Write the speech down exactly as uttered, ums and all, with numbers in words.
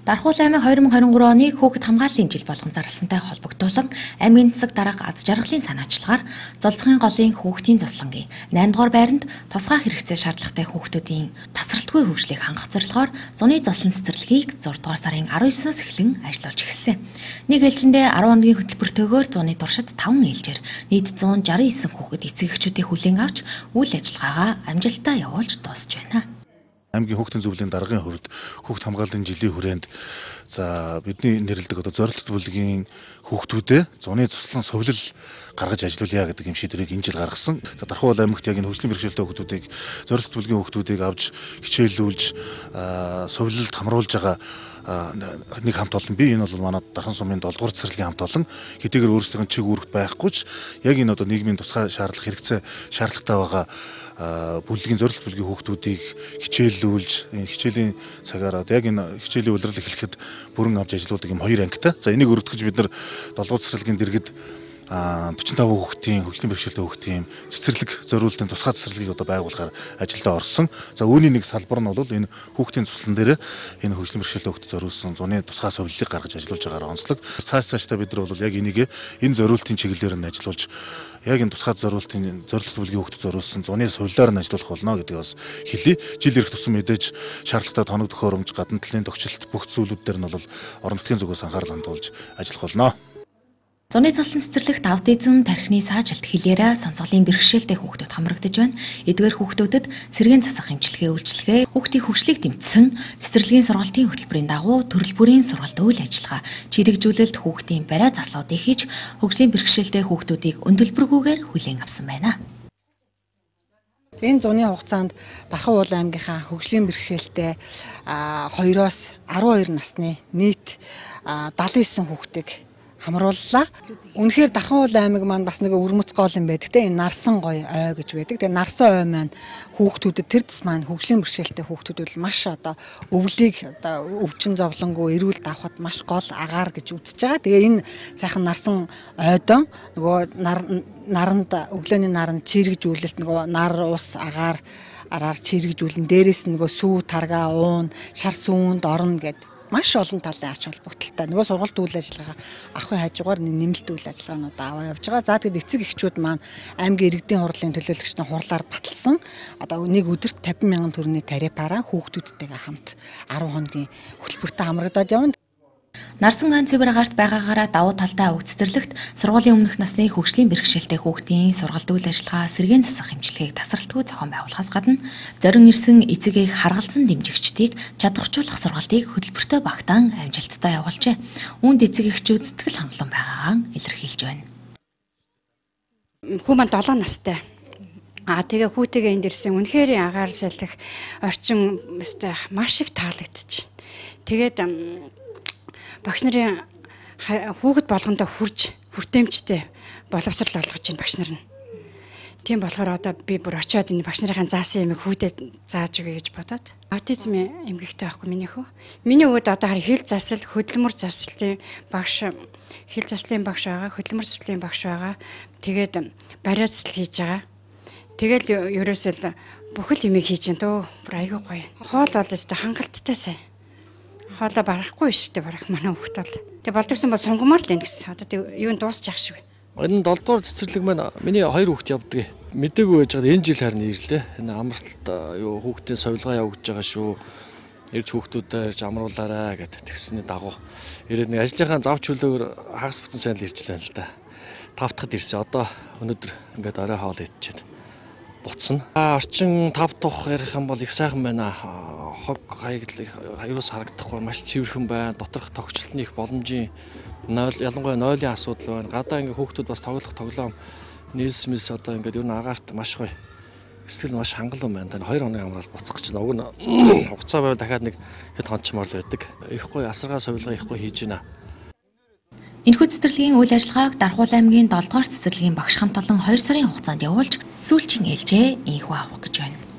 Дархуул аймаг хоёр мың хорин гурван оны хүүхэд хамгааллын жил болгон зарласантай холбогдуулан аймгийн засаг дарга аз жаргалын санаачлагаар Золзохын голын хүүхдийн заслангийн найм дугаар байранд тусгай хэрэгцээ шаардлагатай хүүхдүүдийн тасралтгүй хөгжлийг хангах зорилгоор зуны заслан цэцэрлэгийг зургаадугаар сарын арван есөөс эхлэн ажиллуулж эхэлсэн. Нэг ээлжиндээ арван хоногийн хөтөлбөртөөгөөр зуны туршид таван ээлжээр нийт зуун шаран девять хүүхэд эцэг эхчүүдийн хүлээн авч үйл ажиллагаагаа амжилттай явуулж дуусч байна. Аймгийн хүүхдийн зөвлөлийн даргын хувьд хүүхд хамгааллын жилийн хүрээнд за бидний нэрлэдэг одоо зорилттой бүлгийн хүүхдүүдэд зуны цуслан сувлал гаргаж ажиллуулъя гэдэг юм шийдвэрийг энэ жил гаргасан. За Дархуул аймагт яг энэ хөгжлийн бэрхшээлтэй хүүхдүүдийг зорилттой бүлгийн хүүхдүүдийг авч хичээлүүлж сувлалд хамруулж байгаа нэг хамт олон би энэ бол манай Дархан сумын долоо дугаар цэцэрлэгийн хамт олон хэдийгээр өөрсдийн чиг үүрэгт байхгүй ч яг энэ одоо нийгмийн тусгай шаардлага хэрэгцээ шаардлагатай байгаа бүлгийн зорилттой бүлгийн хүүхдүүдийг хичээлүүлж энэ хичээлийн цагаар одоо яг энэ хичээлийн улирал эхлэхэд бүрэн авч ажилладаг юм хоёр ангитай. За энийг өргөдгөж бид нар долоо цэцэрлэгийн дэргэд45 хүүхдийн хөгжлийн бэрхшээлтэй хүүхдийн цэцэрлэг зориултын тусгай цэцэрлэгийг одоо байгуулахаар ажилдаа орсон. За үүний нэг салбар нь бол энэ хүүхдийн цуслан дээр энэ хөгжлийн бэрхшээлтэй хүүхдэд зориулсан зуны тусгай сувллыг гаргаж ажиллуулж байгаагаар онцлог. Цааш цаашдаа бид нар бол яг энийг энэ зориултын чиглэлээр нь ажиллуулж яг энэ тусгай зориултын зорилттой бүлгийн хүүхдэд зориулсан зуны сувлаар нь ажиллах болно гэдгийг бас хэлье. Жил ирэх тусам мэдээж шаардлагатай тоног төхөөрөмж, гадна талын тохичлолт бүх зүйлүүд дээр нь бол орон нутгийн зүгээс анхаарал хандуулж ажиллах болно. Зуны заслан цэцэрлэгт аутизм, тархины саажилт, хилээрэ, сонсголын бэрхшээлтэй хүүхдүүд хамрагдаж байна. Эдгээр хүүхдүүдэд цэргийн засах эмчилгээ үйлчилгээ, хүүхдийн хөгжлийг дэмжсэн, цэцэрлэгийн сургалтын хөтөлбөрийн дагуу төрөл бүрийн сургалт үйл ажиллагаа, чирэгжүүлэлт хүүхдийн бариа заслуудыг хийж, хөгжлийн бэрхшээлтэй хүүхдүүдийг өндөлбөргүйгээр хүлээн авсан байна. Энэ зуны хугацаанд Дархуул аймгийнхаа хөгжлийн бэрхшээлтэй хоёроос арван хоёр насны нийт далайн девять хүүхдийг хамрууллаа. Үнэхээр Дархуул аймаг маань бас нэг өвөрмөц гол юм байдаг те энэ нарсан гоё ой гэж байдаг. Тэгээ нарсан ой маань хүүхдүүдэд тэр тус маань хөгжлийн бэрхшээлтэй хүүхдүүд бол маш одоо өвлийг одоо өвчин зовлонгүй эрүүл давхад маш гол агаар гэж үзэж байгаа. Тэгээ энэ сайхан нарсан ойдон нөгөө наранд өглөөний наранд чирэгжүүлэлт нөгөө нар ус агаар араар чирэгжүүлэн дээрээс нөгөө сүү тарга уун шар сүүнд орно гэдэг маш олон талын ач холбогдолтой. Нөгөө сургалт үйл ажиллагаа ахын хажуугаар нэмэлт үйл ажиллагаанууд аваа явж байгаа. За тэгэд эцэг эхчүүд маань аймгийн иргэдийн хурлын төлөөлөгчний хурлаар баталсан одоо нэг өдөрт тавин мянган төгрөгийн тарифаараа хүүхдүүдтэйгээ хамт арван хоногийн хөтөлбөртөө хамрагдаад явна. Нарсан гаан цэвэр агаарт байгаагаараа давуу талтай уг цэцэрлэгт сургуулийн өмнөх насны хөгжлийн бэрхшээлтэй хүүхдийн сургалт үйл ажиллагаа сэргээн засах эмчилгээг тасралтгүй зохион байгуулахаас гадна зорин ирсэн эцэгийг харгалзан дэмжигчдийг чадваржуулах сургалтыг хөтөлбөртөө багтаан амжилттай явуулжээ. Үүнд эцэг эхчүүд сэтгэл хангалуун байгаагаа илэрхийлж байна. Хүү маань долоо настай. Аа тэгээ хүүтэйгээ энд ирсэн үнэхээр агаар салхих орчин өстэй маш их таалагдчих. Тэгээд багш нарын хүүхэд болгондоо хурж хүртээмжтэй боловсрал олгож байна багш нар нь. Тийм болохоор одоо би бүр очиод энэ багш нарын заасан юмыг хүүдэд зааж өгье гэж бодоод. Аутизм эмгэгтэй байхгүй миний хүү. Миний өвөд одоо хар хэл засал, хөдөлмөр заслын багш, хэл заслын багш байгаа, хөдөлмөр заслын багш байгаа. Тэгээд бариа засал хийж байгаа. Тэгэл ерөөсөө бүхэл юмыг хийж байна дөө. Бүр айгүй гоё. Хоол бол өстой хангалттай сайн. Хоолой барахгүй шүү дээ барах манай хүүхд бол. Тэгээ болдгсон бол сонгомоор л энэ гэсэн. Одоо юу н дуусчих шиг. Энэ долоо дугаар цэцэрлэг маань миний хоёр хүүхд явдаг. Мэдээгүй байж байгаа энэ жил харин ирлээ. Энэ амралт юу хүүхдийн сувилгаа явагдаж байгаа шүү. Ирж хүүхдүүдэд ирж амруулаарай гэдэг тэгсний дагуу. Ирээд нэг ажлынхаа зав чөлөөгөр хагас буцан сайн л ирж байна л да. Тав дахад ирсэн. Одоо өнөөдөр ингээд орой хоол идчихэд буцна. Орчин тав дахь ярих юм бол их сайхан байна. Хог хаягдлыг аюулс харагдахгүй маш цэвэрхэн байна. Доторх тогтчлолтны их боломжийн нойл ялангуяа нойлын асуудал байна. Гадаа ингээ хүүхдүүд бас тоглох тоглоом нийс мис одоо ингээд ер нь агаарт маш гоё. Сэтгэл маш хангалуун байна. Тань хоёр хоногийн амраад буцах гэж байна. Уг нь хугацаа байвал дахиад нэг хэд хончмор л байдаг. Их гоё асаргаа сувилгаа их гоё хийж байна. Энэхүү цэцэрлэгийн үйл ажиллагааг Дархуул аймгийн долоо дугаар цэцэрлэгийн багш хамт олон хоёр сарын хугацаанд явуулж сүүлчийн ээлжээ инхүү авах гэж байна.